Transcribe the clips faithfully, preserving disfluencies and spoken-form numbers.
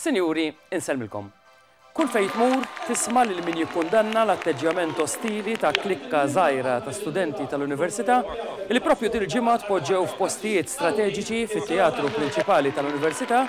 Sinjuri, insellmilkom. Kull fejn tmur tisma' lil min jikkundanna l-atteġġjament ostili ta' klikka żgħira ta' studenti tal-Università li propju dil-ġimgħa tpoġġew f'postijiet strateġiċi fit-teatru prinċipali tal-Università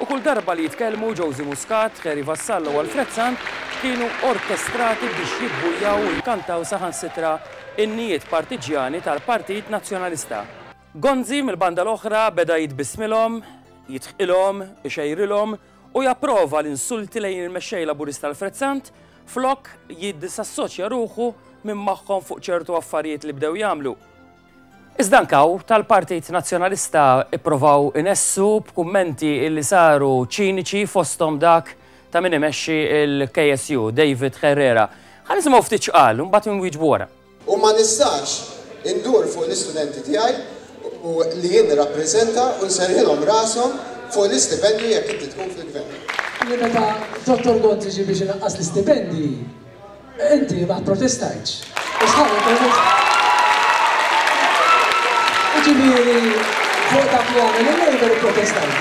u kull darba li jitkellmu Josie Muscat, Harry Vassallo u Alfred Sant kienu orkestrati biex jibbujaw u jkantaw saħansitra innijiet partiġjani tal-Partit Nazzjonalista. Gonzi mill-banda l-oħra beda jitbissmilhom, jidħqilhom, ixejrilhom u japprova l-insulti lejn il-mexxej Laburista Alfred Sant flok jiddisassoċja ruħu minn magħhom fuq ċertu affarijiet li bdew jagħmlu. Iżda anke tal-Partit Nazzjonalista ipprovaw inessu b'kummenti illi saru ċiniċi, fosthom dak ta' min imexxi il-K S U, David Herrera. Ħa nisimgħu ftit x'qal, u mbagħad nwieġbu wara. U ma nistax indur fuq l-istudenti tiegħi u li jien nirrappreżenta u nserrħilhom rashom fuq l-istipendju jekk inti tkun fil-gvern. Li meta Dottor Gonzi ġi biex inaqqas l-istipendi, inti ma protestajtx. U sħabek protest. Ġifieri, fuq dak li għamel il-Labour protestajt.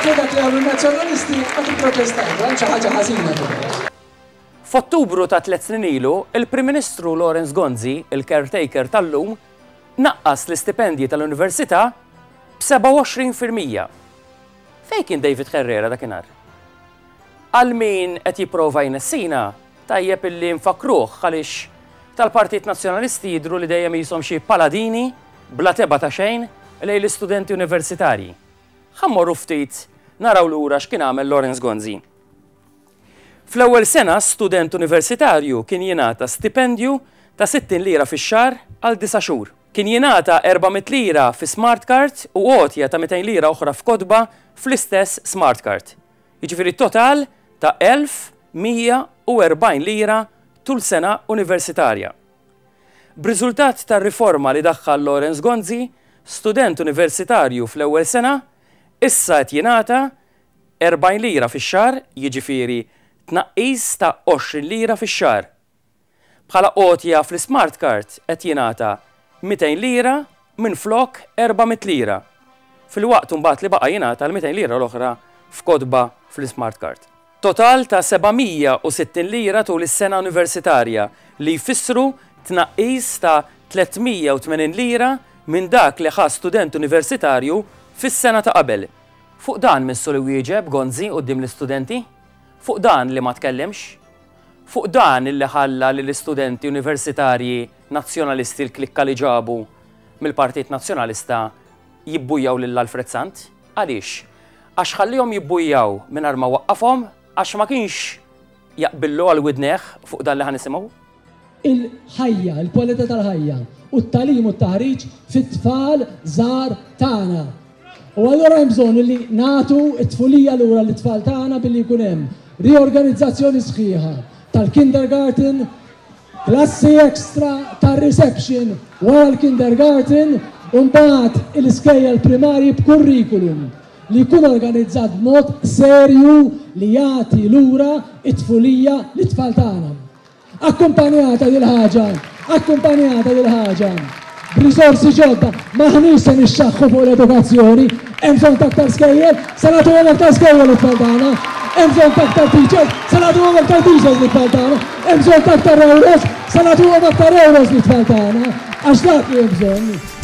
Fuq dak li għamel il-Nazzjonalisti ma tipprotestajt, hemm xi ħaġa ħażina però. F'Ottubru ta' tliet snin ilu, il-Prim Ministru Lawrence Gonzi, il-caretaker tal-lum, naqqas l-istipendji tal-Università b'sebgħa u għoxrin fil-mija. Fejn kien David Herrera dakinhar? Għal min qed jipprova jnessina, tajjeb illi nfakruh għaliex tal-Partit Nazzjonalisti jidru li dejjem jisom xi paladini bla tebgħa ta' xejn lejn l-istudenti universitarji. Ħa mmorru ftit naraw lura x'kien għamel Lawrence Gonzi. Fl-ewwel sena, student universitarju kien jingħata stipendju ta' sittin lira fix-xahar għal disa' xhur. Kien jingħata erba' mitt lira fi smart card u għotja ta' mitejn lira oħra f'kotba fl-istess smart card. Jiġifieri total ta' elf u mija u erbgħin lira tul sena universitarja. B'riżultat tar-riforma li daħħal Lawrence Gonzi, student universitarju fl-ewwel sena issa qed jingħata erbgħin lira fix-xahar, jiġifieri tnaqqis ta' għoxrin lira fix-xahar. Bħala għotja fl-smart card qed jingħata mitejn lira minn flok erba' mitt lira. Filwaqt mbagħad li baqa' jingħata l-mitejn lira l-oħra f'kotba fl-smart card. Total ta' seba' mija u sittin lira tul is-sena universitarja, li jfissru tnaqqis ta' tliet mija u tmenin lira minn dak li ħa student universitarju fis-sena ta' qabel. Fuq dan missu li wieġeb Gonzi quddiem l-istudenti? Fuq dan li ma tkellimx? Fuq dan illi ħalla li l-istudenti universitarji nazzjonalisti, l-klikka li ġabu mill-Partit Nazzjonalista, jibbujaw lil Alfred Sant? Għaliex? Għax ħallihom jibbujaw mingħajr ma waqqafhom, għax ma kienx jaqbillu għal widnejh fuq dan li ħa nisimgħu? Il-ħajja, il-kwalità tal-ħajja u t-tagħlim u t-taħriġ fit-tfal żgħar tagħna. U allura hemm bżonn li nagħtu t-tfulija lura lit-tfal tagħna billi jkun hemm riorganizzazzjoni sħiħa tal-kindergarten, klassi extra tar-reception wara l-kindergarten u mbagħad l-iskejjel primarji b'kurrikulum li jkun organizzat b'mod serju li jagħti lura it-tfulija lit-tfal tagħna. Akkumpanjata dil-ħaġa, akkumpanjata dil-ħaġa b'risorsi ġodda. M'aħniex se nixxaħħu fuq l-edukazzjoni. Hemm bżonn ta' aktar skejjel, se nagħtuhom aktar skejjel lit-tfal tagħna. Hemm bżonn ta' aktar teachers, se nagħtuhom aktar teachers lit-tfal tagħna. Hemm bżonn ta' aktar euros, se nagħtuhom aktar euros lit-tfal tagħna. Għax dak li hemm bżonn.